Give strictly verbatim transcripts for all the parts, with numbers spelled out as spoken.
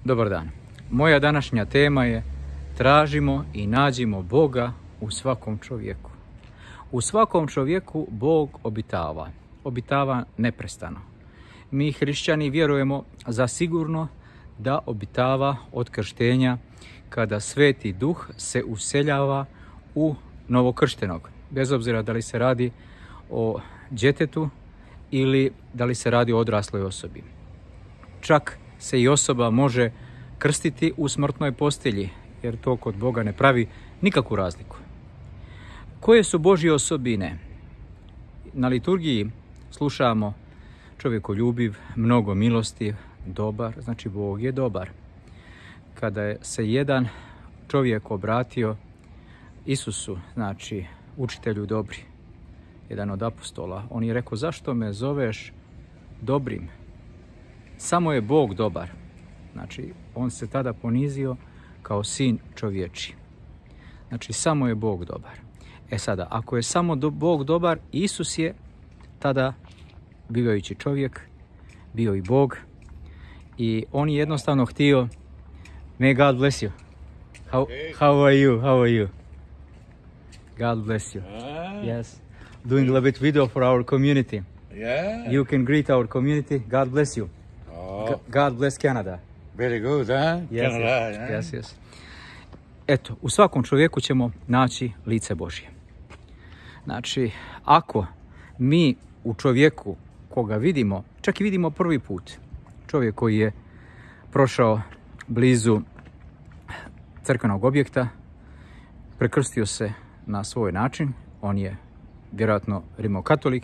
Dobar dan. Moja današnja tema je tražimo i nađimo Boga u svakom čovjeku. U svakom čovjeku Bog obitava. Obitava neprestano. Mi hrišćani vjerujemo zasigurno da obitava od krštenja kada Sveti Duh se useljava u novokrštenog. Bez obzira da li se radi o djetetu ili da li se radi o odrasloj osobi. Čak se i osoba može krstiti u smrtnoj postelji, jer to kod Boga ne pravi nikakvu razliku. Koje su Božje osobine? Na liturgiji slušamo čovjekoljubiv, mnogo milostiv, dobar, znači Bog je dobar. Kada je se jedan čovjek obratio Isusu, znači učitelju dobri, jedan od apostola, on je rekao: zašto me zoveš dobrim? Samo je Bog dobar. Znači, on se tada ponizio kao sin čovječi. Znači, samo je Bog dobar. E sada, ako je samo do, Bog dobar, Isus je tada, bivajući čovjek, bio i Bog. I on je jednostavno htio, may God bless you. How, how are you? How are you? God bless you. Yes. Doing a little bit video for our community. Yeah. You can greet our community. God bless you. Oh, God bless Canada. very good, huh? Yes, Canada, yes, yeah. yes, yes. Eto, u svakom čovjeku ćemo naći lice Božje. Znači, ako mi u čovjeku koga vidimo, čak i vidimo prvi put, čovjek koji je prošao blizu crkvenog objekta, prekrstio se na svoj način, on je vjerojatno rimokatolik,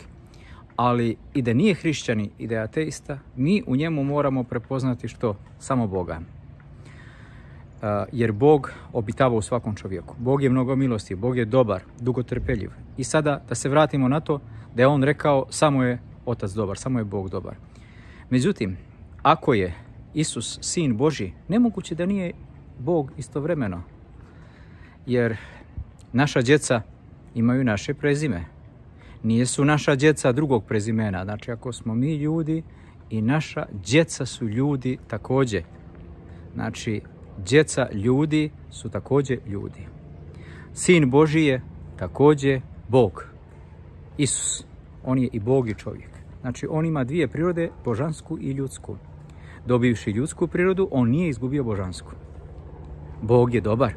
ali i da nije hrišćanin i da je ateista, mi u njemu moramo prepoznati što? Samo Boga. Uh, jer Bog obitava u svakom čovjeku. Bog je mnogo milostiv, Bog je dobar, dugotrpeljiv. I sada da se vratimo na to da je on rekao samo je Otac dobar, samo je Bog dobar. Međutim, ako je Isus sin Božji, nemoguće da nije Bog istovremeno. Jer naša djeca imaju naše prezime. Nijesu naša djeca drugog prezimena. Znači, ako smo mi ljudi i naša djeca su ljudi također. Znači, djeca ljudi su također ljudi. Sin Božji je također Bog. Isus. On je i Bog i čovjek. Znači, on ima dvije prirode, božansku i ljudsku. Dobivši ljudsku prirodu, on nije izgubio božansku. Bog je dobar.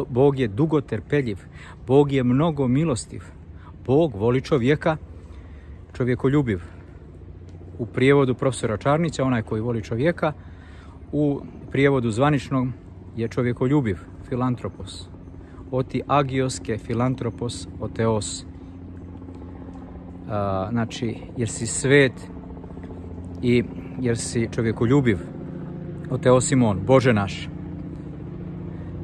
Bog je dugotrpeljiv. Bog je mnogo milostiv. Bog voli čovjeka, čovjekoljubiv. U prijevodu profesora Čarnića, onaj koji voli čovjeka, u prijevodu zvaničnog je čovjekoljubiv, filantropos. Oti agioske filantropos oteos. A, znači, jer si svet i jer si čovjekoljubiv. Oteosimon, Bože naš.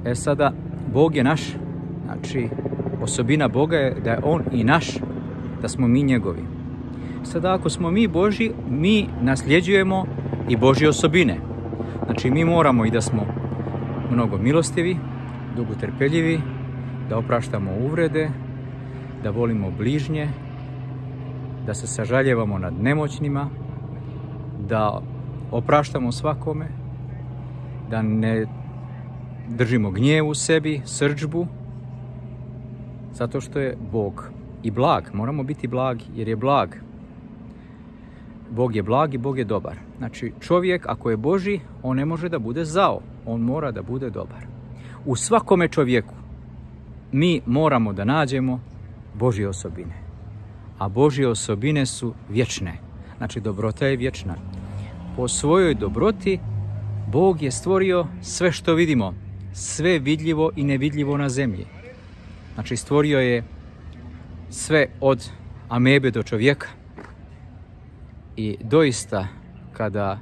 E sada, Bog je naš, znači, osobina Boga je da je on i naš, da smo mi njegovi. Sada, ako smo mi Božji, mi nasljeđujemo i Božje osobine. Znači, mi moramo i da smo mnogo milostivi, dugotrpeljivi, da opraštamo uvrede, da volimo bližnje, da se sažaljevamo nad nemoćnima, da opraštamo svakome, da ne držimo gnjev u sebi, srdžbu, zato što je Bog i blag. Moramo biti blagi jer je blag. Bog je blag i Bog je dobar. Znači, čovjek ako je Božji, on ne može da bude zao. On mora da bude dobar. U svakome čovjeku mi moramo da nađemo Božje osobine. A Božje osobine su vječne. Znači, dobrota je vječna. Po svojoj dobroti Bog je stvorio sve što vidimo. Sve vidljivo i nevidljivo na zemlji. Znači, stvorio je sve od amebe do čovjeka. I doista, kada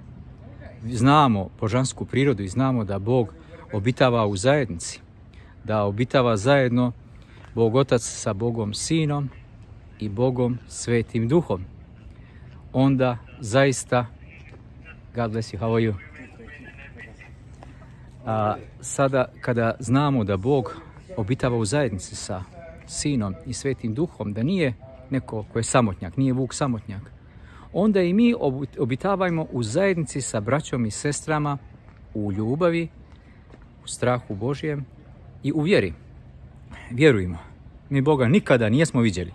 znamo božansku prirodu i znamo da Bog obitava u zajednici, da obitava zajedno Bog Otac sa Bogom Sinom i Bogom Svetim Duhom, onda zaista, God bless you, how are you? A, sada, kada znamo da Bog obitava u zajednici sa Sinom i Svetim Duhom, da nije neko ko je samotnjak, nije Vuk samotnjak, onda i mi obitavajmo u zajednici sa braćom i sestrama u ljubavi, u strahu Božjem i u vjeri. Vjerujemo. Mi Boga nikada nismo vidjeli,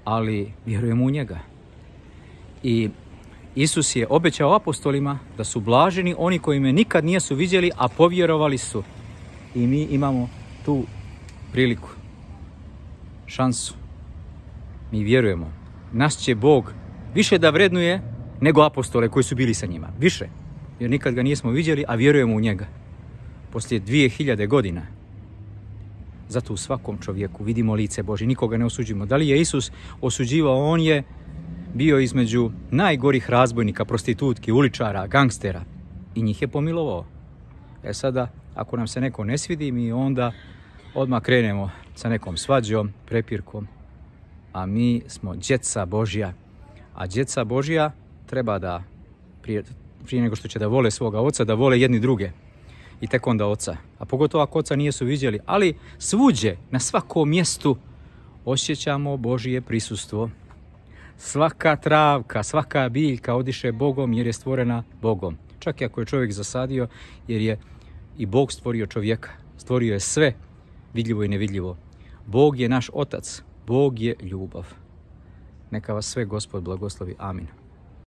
ali vjerujemo u njega. I Isus je obećao apostolima da su blaženi oni koji me nikad nisu vidjeli, a povjerovali su. I mi imamo tu priliku, šansu. Mi vjerujemo. Nas će Bog više da vrednuje nego apostole koji su bili sa njima. Više. Jer nikad ga nismo vidjeli, a vjerujemo u njega. Poslije dvije hiljade godina. Zato u svakom čovjeku vidimo lice Božje. Nikoga ne osuđujemo. Da li je Isus osuđivao? On je bio između najgorih razbojnika, prostitutki, uličara, gangstera. I njih je pomilovao. E sada, ako nam se neko ne svidi, mi onda odmah krenemo sa nekom svađom, prepirkom. A mi smo djeca Božja. A djeca Božja treba da, prije, prije nego što će da vole svoga oca, da vole jedni druge. I tek onda oca. A pogotovo ako oca nisu vidjeli. Ali svuđe, na svakom mjestu osjećamo Božje prisustvo. Svaka travka, svaka biljka odiše Bogom jer je stvorena Bogom. Čak i ako je čovjek zasadio, jer je i Bog stvorio čovjeka. Stvorio je sve, vidljivo i nevidljivo. Bog je naš otac. Bog je ljubav. Neka vas sve Gospod blagoslovi. Amin.